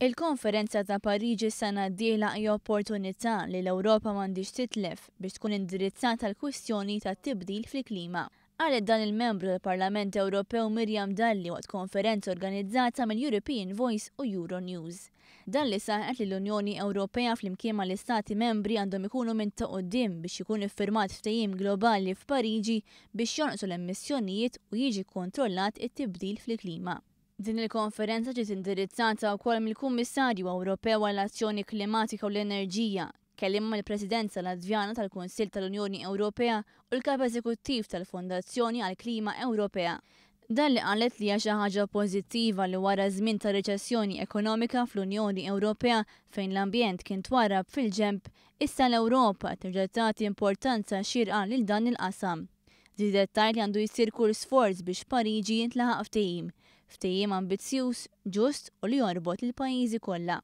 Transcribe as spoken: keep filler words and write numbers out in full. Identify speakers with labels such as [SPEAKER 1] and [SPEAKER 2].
[SPEAKER 1] Il-Konferenza ta' Pariġi s-sena d-dieħla hija opportunità li l-Ewropa m'għandhiex titlef biex tkun indirizzata l-kwistjoni tat-tibdil fil-klima. Qalet dan il-membru tal-Parlament Ewropew Miriam Dalli waqt konferenza organizzata mill-European Voice u Euronews. Dalli saħqet li l-Unjoni Ewropea flimkien mal-Istati membri għandhom ikunu minn ta' quddiem biex ikun iffirmat ftehim globali f'Pariġi biex jonqsu l-emissjonijiet u jiġi kontrollat it-tibdil fil-klima. Din il-konferenza ġiet indirizzata wkoll mill-Kummissarju Ewropew għall-Azzjoni Klimatika u l-Enerġija, kelliem mal-Presidenza Latvjana tal-Kunsill tal-Unjoni Ewropea u l-Kap Eżekuttiv tal-Fondazzjoni għall-Klima Ewropea. Dalli qalet li hija xi ħaġa pożittiva li wara żmien ta' riċessjoni ekonomika fl-Unjoni Ewropea fejn l-ambjent kien twarrab fil-ġenb, issa l-Ewropa terġa' tagħti importanza xierqa lil dan il-qasam. Żiedet tgħid li għandu jsir kull sforz biex Pariġi jintlaħaq ftehim, ftehim ambizzjuż, ġust u li jorbot il-pajjiżi kollha.